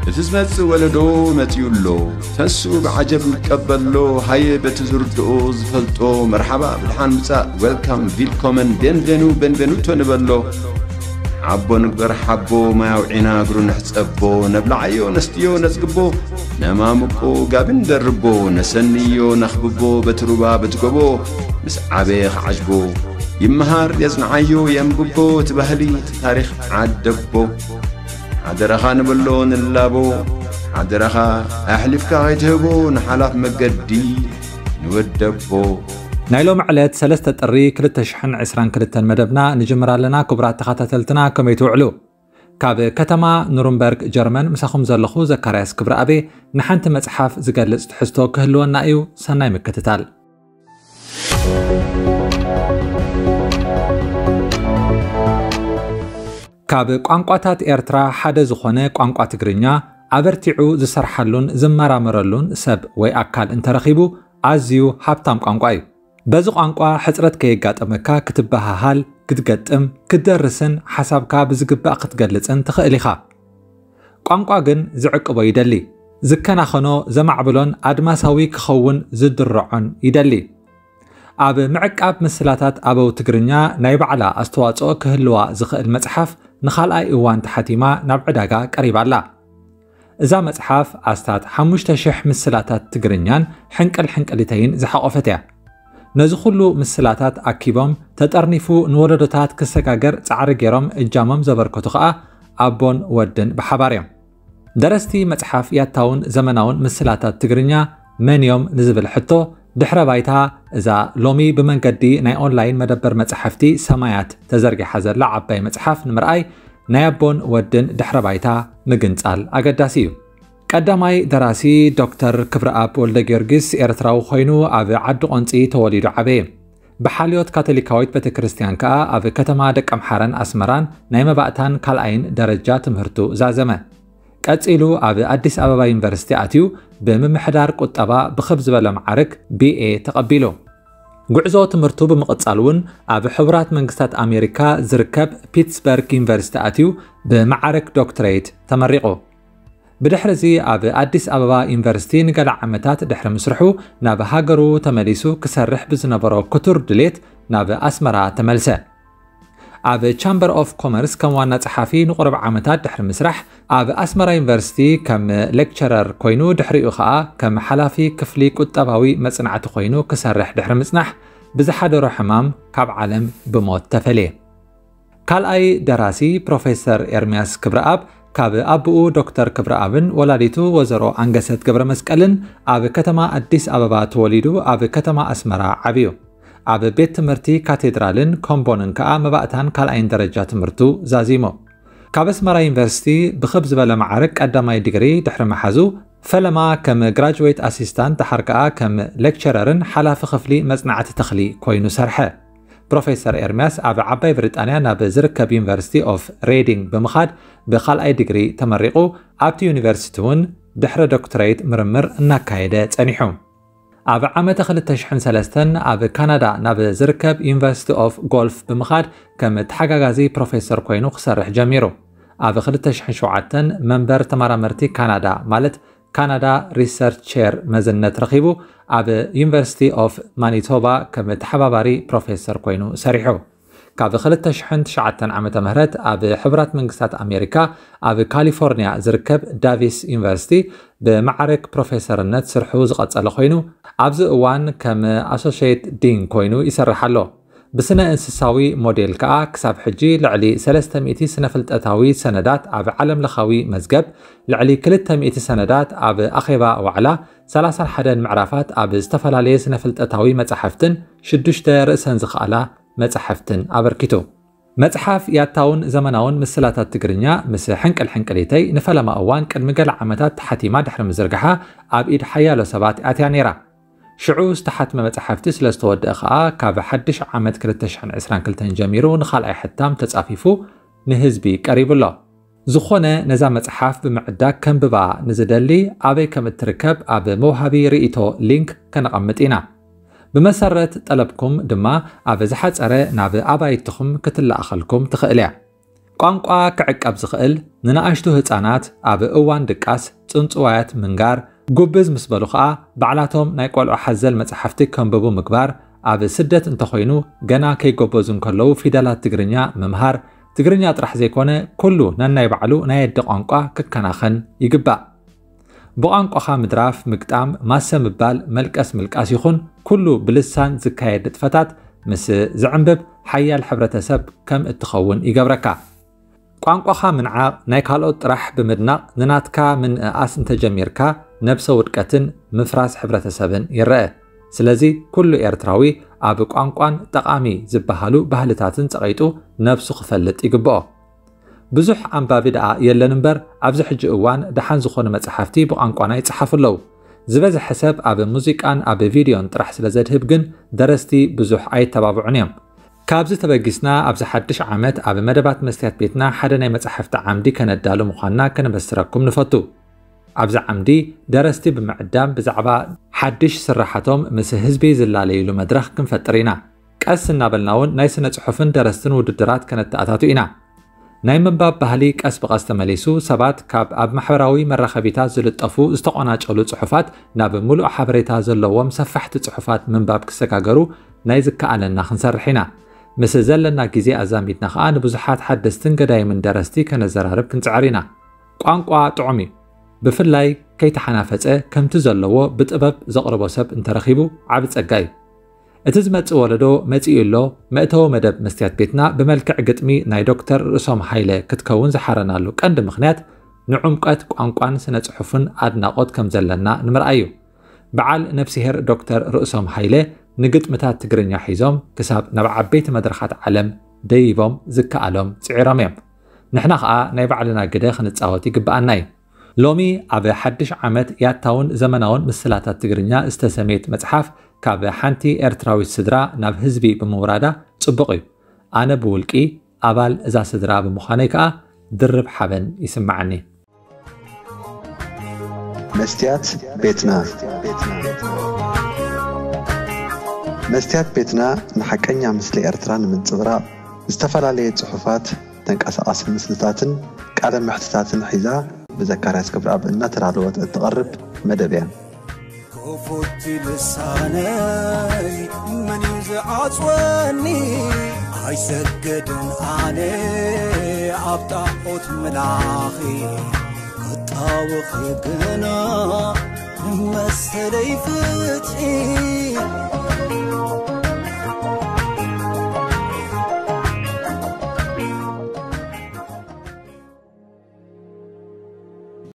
እቲ ዝመጽእ ወለዶ መጺኡ ኣሎ። ተንስኡ ብዓጀብ ንቀበሎ። ሃየ በቲ ዝርድኦ ዝፈልጦ መርሓባ ብድሓን ምጻእ፣ ዌልካም፣ ቪልኮመን፣ ቤንቬኑ፣ ቤንቬኑቶ ንበሎ። ሓቦ ንግበር ሓቦ፣ ማይ ኣውዒና እግሩ ንሕጸቦ። ነብልዓዮ ነስትዮ ነጽግቦ፣ ነማምቆ ጋቢ ንደርቦ። ነሰንዮ ነኽብቦ በቲ ሩባ በቲ ጎቦ። ምስ ዓበየ ክዓጅቦ ይመሃር የጽንዓዮ የንብቦ። እቲ ባህሊ እቲ ታሪኽ ዓደቦ። ሓደራኻ ንበሎ ንላቦ። ሓደራኻ ኣሕሊፍካ ከይትህቦ ንሓላፍ መገዲ ንወደቦ። ናይ ሎሚ ዕለት ሰለስተ ጥሪ ክልተ ሽሕን ዕስራን ክልተን መደብና ንጅምር ኣለና። ክቡራት ተኸታተልትና ከመይ ትውዕሉ? ካብ ከተማ ኑርንበርግ ጀርመን ምሳኹም ዘለኹ ዘካርያስ ክብረኣቤ። ንሓንቲ መጽሓፍ ዝገልጽ ትሕዝቶ ክህልወና እዩ። ሰናይ ምክትታል። ካብ ቋንቋታት ኤርትራ ሓደ ዝኾነ ቋንቋ ትግርኛ ኣበርቲዑ ዝሰርሓሉን ዝመራመረሉን ሰብ ወይ ኣካል እንተረኺቡ ኣዝዩ ሃብታም ቋንቋ እዩ። በዚ ቋንቋ ሕጽረት ከየጋጠመካ ክትበሃሃል፣ ክትገጥም፣ ክትደርስን ሓሳብካ ብዝግባእ ክትገልጽን ትኽእል ኢኻ። ቋንቋ ግን ዝዕቅቦ ይደሊ። ዝከናኸኖ፣ ዘማዕብሎን ኣድማሳዊ ክኸውን ዝድርዖን ይደሊ። ኣብ ምዕቃብ ምስላታት ኣበው ትግርኛ ናይ ባዕላ ኣስተዋጽኦ ክህልዋ ዝኽእል መጽሓፍ ንኻልኣይ እዋን ተሓቲማ ናብ ዕዳጋ ቀሪባ ኣላ። እዛ መጽሓፍ ኣስታት ሓሙሽተ ሽሕ ምስላታት ትግርኛን ሕንቅል ሕንቅሊተይን ዝሓቖፈት እያ። ነዚ ኩሉ ምስላታት ኣኪቦም ተጠርኒፉ ንወለዶታት ክሰጋገር ጻዕሪ ገይሮም እጃሞም ዘበርከቱ ኸኣ ኣቦን ወድን ብሓባር እዮም። ደረስቲ መጽሓፍ ያታውን ዘመናውን ምስላታት ትግርኛ መን እዮም ንዝብል ሕቶ ድሕረ ባይታ እዛ ሎሚ ብመንገዲ ናይ ኦንላይን መደበር መጻሕፍቲ ሰማያት ተዘርጊሓ ዘላ ዓባይ መጽሓፍ ንምርኣይ ናይ ኣቦን ወድን ድሕረ ባይታ ምግንጻል ኣገዳሲ እዩ። ቀዳማይ ደራሲ ዶክተር ክብረኣብ ወልደ ጊዮርጊስ ኤርትራዊ ኮይኑ ኣብ ዓዲ ቆንጺ ተወሊዱ ዓበየ። ብሓልዮት ካቶሊካዊት ቤተ ክርስቲያን ከኣ ኣብ ከተማ ደቀምሓረን ኣስመራን ናይ መባእታን ካልኣይን ደረጃ ትምህርቱ ዛዘመ። ቀጺሉ ኣብ ኣዲስ ኣበባ ዩኒቨርሲቲ ኣትዩ ብምምሕዳር ቁጠባ ብኽብ ዝበለ መዓርግ ቢ ኤ ተቐቢሉ። ጉዕዞ ትምህርቱ ብምቕጻል እውን ኣብ ሕቡራት መንግስታት ኣሜሪካ ዝርከብ ፒትስበርግ ዩኒቨርሲቲ ኣትዩ ብመዓርግ ዶክትሬት ተመሪቑ። ብድሕርዚ ኣብ ኣዲስ ኣበባ ዩኒቨርሲቲ ንገለ ዓመታት ድሕሪ ምስርሑ ናብ ሃገሩ ተመሊሱ ክሰርሕ ብዝነበሮ ክቱር ድሌት ናብ ኣስመራ ተመልሰ። ኣብ ቻምበር ኦፍ ኮመርስ ከም ዋና ጸሓፊ ንቁሩብ ዓመታት ድሕሪ ምስራሕ ኣብ ኣስመራ ዩኒቨርሲቲ ከም ሌክቸረር ኮይኑ ድሕሪኡ ኸኣ ከም ሓላፊ ክፍሊ ቁጠባዊ መጽናዕቲ ኮይኑ ክሰርሕ ድሕሪ ምጽናሕ ብዝሓደሮ ሕማም ካብ ዓለም ብሞት ተፈልየ። ካልኣይ ደራሲ ፕሮፌሰር ኤርምያስ ክብረኣብ ካብ ኣቦኡ ዶክተር ክብረኣብን ወላዲቱ ወዘሮ ኣንገሰት ገብረመስቀልን ኣብ ከተማ ኣዲስ ኣበባ ተወሊዱ ኣብ ከተማ ኣስመራ ዓብዩ። ኣብ ቤት ትምህርቲ ካቴድራልን ኮምቦንን ከኣ መባእታን ካልኣይን ደረጃ ትምህርቱ ዛዚሙ። ካብ ኣስመራ ዩኒቨርሲቲ ብኽብ ዝበለ መዓርግ ቀዳማይ ዲግሪ ድሕሪ ምሓዙ ፈለማ ከም ግራጅዌት ኣሲስታንት ደሓር ከኣ ከም ሌክቸረርን ሓላፊ ክፍሊ መጽናዕቲ ተኽሊ ኮይኑ ሰርሐ። ፕሮፌሰር ኤርምያስ ኣብ ዓባይ ብሪጣንያ ናብ ዝርከብ ዩኒቨርሲቲ ኦፍ ሬዲንግ ብምኻድ ብኻልኣይ ዲግሪ ተመሪቑ ኣብቲ ዩኒቨርሲቲ እውን ድሕረ ዶክትሬት ምርምር እናካየደ ጸኒሑ። ኣብ ዓመተ ክልተ ሽሕን ሰለስተን ኣብ ካናዳ ናብ ዝርከብ ዩኒቨርሲቲ ኦፍ ጎልፍ ብምኻድ ከም ተሓጋጋዚ ፕሮፌሰር ኮይኑ ክሰርሕ ጀሚሩ። ኣብ ክልተ ሽሕን ሸውዓተን መንበር ተመራመርቲ ካናዳ ማለት ካናዳ ሪሰርች ቼር መዝነት ረኺቡ ኣብ ዩኒቨርሲቲ ኦፍ ማኒቶባ ከም ተሓባባሪ ፕሮፌሰር ኮይኑ ሰሪሑ። ካብ ክልተ ሽሕን ትሽዓተን ዓመተ ምህረት ኣብ ሕቡራት መንግስታት ኣሜሪካ ኣብ ካሊፎርኒያ ዝርከብ ዳቪስ ዩኒቨርሲቲ ብማዕረግ ፕሮፌሰርነት ስርሑ ዝቐጸለ ኮይኑ ኣብዚ እዋን ከም ኣሶሽየት ዲን ኮይኑ ይሰርሕ ኣሎ። ብስነ እንስሳዊ ሞዴል ከኣ ክሳብ ሕጂ ልዕሊ ሰለስተ ሚእቲ ስነ ፍልጠታዊ ሰነዳት ኣብ ዓለም ለኻዊ መዝገብ፣ ልዕሊ ክልተ ሚእቲ ሰነዳት ኣብ ኣኼባ ዋዕላ፣ ሰላሳን ሓደን ምዕራፋት ኣብ ዝተፈላለየ ስነ ፍልጠታዊ መጻሕፍትን ሽዱሽተ ርእሰን ዝኸኣላ መጻሕፍትን ኣበርኪቱ። መጽሓፍ ያታውን ዘመናውን ምስላታት ትግርኛ ምስ ሕንቅል ሕንቅሊተይ ንፈለማ እዋን ቅድሚ ገለ ዓመታት ተሓቲማ ድሕሪ ምዝርግሓ ኣብ ኢድ ሓያሎ ሰባት ኣትያ ነይራ። ሽዑ ዝተሓትመ መጽሓፍቲ ስለ ዝተወደአ ከኣ ካብ ሓድሽ ዓመት ክልተ ሽሕን ዕስራን ክልተን ጀሚሩ ንኻልኣይ ሕታም ተጻፊፉ ንህዝቢ ቀሪቡ ኣሎ። ዝኾነ ነዛ መጽሓፍ ብምዕዳግ ከንብባ ንዝደሊ ኣበይ ከም እትርከብ ኣብ መውሃቢ ርእይቶ ሊንክ ከነቐምጥ ኢና። ብመሰረት ጠለብኩም ድማ ኣብ ዝሓጸረ ናብ ኣባይትኹም ክትለኣኸልኩም ትኽእል እያ። ቋንቋ ክዕቀብ ዝኽእል ንንኣሽቱ ህጻናት ኣብ እዋን ድቃስ ጽንጽዋያት ምንጋር፣ ጉብዝ ምስ በሉ ኸኣ ባዕላቶም ናይ ቆልዑ ሓዘል መጻሕፍቲ ከንብቡ ምግባር፣ ኣብ ስደት እንተኾይኑ ገና ከይጎበዙ እንከለዉ ፊደላት ትግርኛ ምምሃር፣ ትግርኛ ጥራሕ ዘይኮነ ኩሉ ነናይ ባዕሉ ናይ ኣደ ቋንቋ ክከናኸን ይግባእ። ብቋንቋኻ ምድራፍ፣ ምግጣም፣ ማሰ ምባል፣ መልቀስ ምልቃስ ይኹን ኩሉ ብልሳን ዝካየድ ንጥፈታት ምስ ዝዕንብብ ሓያል ሕብረተሰብ ከም እትኸውን ይገብረካ። ቋንቋኻ ምንዓቕ፣ ናይ ካልኦት ጥራሕ ብምድናቕ ንናትካ ምንእኣስ እንተጀሚርካ ነብሰ ውድቀትን ምፍራስ ሕብረተሰብን ይረአ። ስለዚ ኩሉ ኤርትራዊ ኣብ ቋንቋን ጠቓሚ ዝበሃሉ ባህልታትን ጸቒጡ ነብሱ ክፈልጥ ይግብኦ። ብዙሕ ኣንባቢ ደኣ የለን እምበር ኣብዚ ሕጂ እዋን ደሓን ዝኾኑ መጽሓፍቲ ብቋንቋና ይጸሓፉ ኣለዉ። ዝበዝሐ ሰብ ኣብ ሙዚቃን ኣብ ቪድዮን ጥራሕ ስለ ዘድህብ ግን ደረስቲ ብዙሕ ኣይተባብዑን እዮም። ካብዚ ተበጊስና ኣብዚ ሓድሽ ዓመት ኣብ መደባት መስትያት ቤትና ሓደ ናይ መጽሓፍቲ ዓምዲ ከነዳሉ ምዃንና ከነበስረኩም ንፈቱ። ኣብዚ ዓምዲ ደረስቲ ብምዕዳም ብዛዕባ ሓድሽ ስራሓቶም ምስ ህዝቢ ዝላለይሉ መድረኽ ክንፈጥር ኢና። ቀስ እናበልና እውን ናይ ስነ ጽሑፍን ደረስትን ውድድራት ከነተኣታቱ ኢና። ናይ ምንባብ ባህሊ ቀስ ብቐስ ተመሊሱ ሰባት ካብ ኣብ ማሕበራዊ መራኸቢታት ዝልጠፉ ዝተቖናጨሉ ጽሑፋት ናብ ምሉእ ሓበሬታ ዘለዎም ሰፋሕቲ ጽሑፋት ምንባብ ክሰጋገሩ ናይ ዝከኣለና ክንሰርሕ ኢና። ምስ ዘለና ግዜ ኣዛሚድና ኸኣ ንብዙሓት ሓደስትን ገዳይምን ደረስቲ ከነዘራርብ ክንጽዕር ኢና። ቋንቋ ጥዑም እዩ። ብፍላይ ከይተሓናፈጸ ከምቲ ዘለዎ ብጥበብ ዘቕርቦ ሰብ እንተረኺቡ ዓቢ ጸጋ እዩ። እቲ ዝመጽእ ወለዶ መጺኡ ኣሎ። መእተዊ መደብ መስትያት ቤትና ብመልክዕ ግጥሚ ናይ ዶክተር ርእሶም ሃይለ ክትከውን ዝሓረናሉ ቀንዲ ምኽንያት ንዕምቀት ቋንቋን ስነ ጽሑፍን ኣድናቖት ከም ዘለና ንምርኣይ እዩ። በዓል ነፍስሄር ዶክተር ርእሶም ሃይለ ንግጥምታት ትግርኛ ሒዞም ክሳብ ናብ ዓበይቲ መድረኻት ዓለም ደይቦም ዝከኣሎም ጽዒሮም እዮም። ንሕና ኸኣ ናይ ባዕልና ግደ ክንጻወት ይግብኣና እዩ። ሎሚ ኣብ ሓድሽ ዓመት ያታውን ዘመናውን ምስላታት ትግርኛ ዝተሰምየት መጽሓፍ ካብ ሓንቲ ኤርትራዊት ስድራ ናብ ህዝቢ ብምውራዳ ጽቡቕ እዩ። ኣነ ብውልቂ ኣባል እዛ ስድራ ብምዃነይ ከኣ ድርብ ሓበን ይስምዓኒ። መስትያት ቤትና። መስትያት ቤትና ንሓቀኛ ምስሊ ኤርትራ ንምንጽብራቕ ዝተፈላለየ ጽሑፋት፣ ተንቀሳቓሲ ምስልታትን ቃለ መሕትታትን ሒዛ ብዘካርያስ ክብረኣብ እናተዳለወት እትቐርብ መደብ እያ። ክፉት ልሳነይ መን እዩ ዝዓጽወኒ? ኣይሰገድን ኣነ ኣብ ጣዖት ምላኺ ክጣወኺ ግና መሰለይ ፍትሒ